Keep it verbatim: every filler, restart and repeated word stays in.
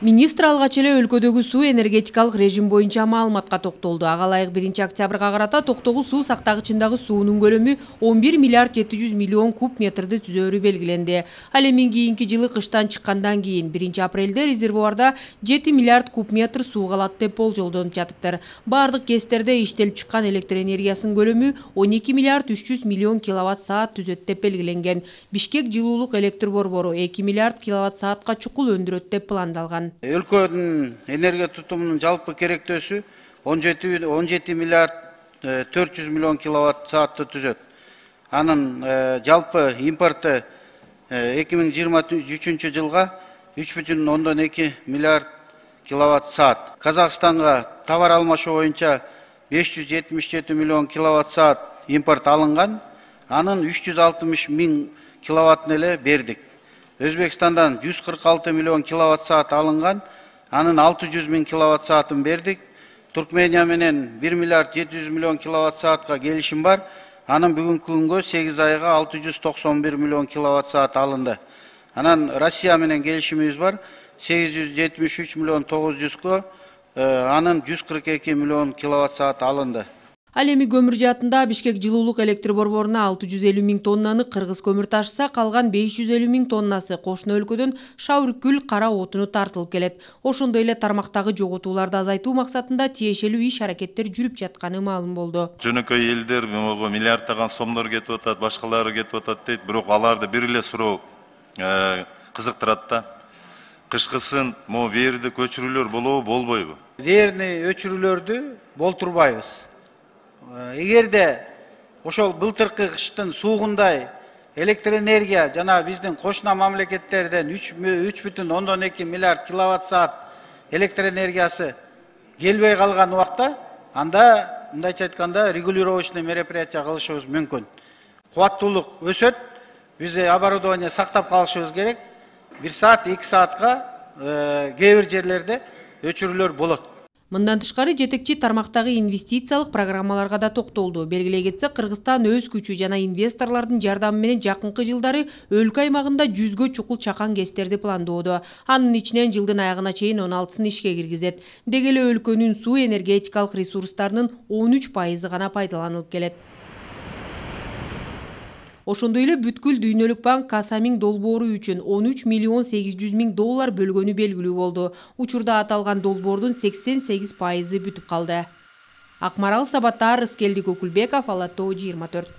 Министр алгач эле өлкөдөгү суу энергетикалык режим боюнча маалыматка токтолду. Ага ылайык биринчи октябрга карата Токтогул суу сактагычындагы суунун көлөмү он бир миллиард жети жүз миллион куб метрди түзөөрү белгиленди. Ал эми кийинки жылы кыштан чыккандан кийин биринчи апрелде резервуарда жети миллиард куб метр суу калат деп болжолдонуп жатыптыр. Бардык кестерде иштелип чыккан электр энергиясынын көлөмү он эки миллиард үч жүз миллион киловатт саат түзөт деп белгиленген. Бишкек жылуулук электр борбору эки миллиард киловатт саатка чукул өндүрөт деп пландалган. Өлкөнүн энергия тутумунун жалпы керектөөсү он жети миллиард төрт жүз миллион киловатт саатты түзөт. Анын жалпы импорты эки миң жыйырма үчүнчү жылга үч бүтүн ондон эки миллиард киловатт саат. Казакстанга товар алмашуу боюнча беш жүз жетимиш жети миллион киловатт саат импорт алынган. Анын үч жүз алтымыш миң киловаттын эле бердик. Өзбекстандан жүз кырк алты миллион киловатт саат алынган, анын алты жүз миң киловатт саатын бердик. Туркмения менен бир миллиард жети жүз миллион киловатт саатка келишим бар. Анын бүгүнкү күнгө сегиз айга алты жүз токсон бир миллион киловатт саат алынды. Анан Россия менен келишимибиз бар. сегиз жүз жетимиш үч миллион тогуз жүзгө анын жүз кырк эки миллион киловатт саат алынды. Ал эми көмүр жаатында Бишкек жылуулук электр борборуна алты жүз элүү миң тоннаны кыргыз көмүр ташыса, калган беш жүз элүү миң тоннасы кошуна өлкөдөн Шаврыкүл кара отуну тартылып келет. Ошондой эле тармактагы жоготууларды азайтуу максатында тиешелүү иш-аракеттер жүрүп жатканы маалым болду. Жөнөкөй элдер могу миллиарддаган сомдор кетип атат, башкалары кетип атат дейт, бирок аларды бир эле суроо кызыктырат да. Кышкысын могу верди көчүрүүлөр болобу, болбойбу? Верни өчүрүүлөрдү болтурбайбыз. Эгерде ошол былтыркы кыштын суугундай электр энергия жана биздин кошуна мамлекеттерден үч бүтүн ондон эки миллиард киловатт саат электр энергиясы келбей калган убакта, анда мындайча айтканда регулировочный мероприятия кылышыбыз мүмкүн. Кубаттуулук өсөт, биз оборудование сактап калышыбыз керек. бир саат, эки саатка кээ бир жерлерде өчүрүүлөр болот. Мындан тышкары жетекчи тармактагы инвестициялык программаларга да токтолду. Белгилей кетсек, Кыргызстан өз күчү жана инвесторлордун жардамы менен жакынкы жылдары өлкө аймагында жүзгө чукул чакан кестерди пландоодо. Анын ичинен жылдын аягына чейин он алтысын ишке киргизет. Деги эле өлкөнүн суу энергетикалык ресурстарынын он үч пайызы гана пайдаланылып келет. Ошондой эле бүткүл дүйнөлүк банк Касамин долбоору үчүн он үч миллион сегиз жүз миң доллар бөлгөнү белгилүү болду. Учурда аталган долбоордун сексен сегиз пайызы бүтүп калды. Акмарал Сабаттар, Рыскелди Көкүлбеков, Ала Тоо жыйырма төрт.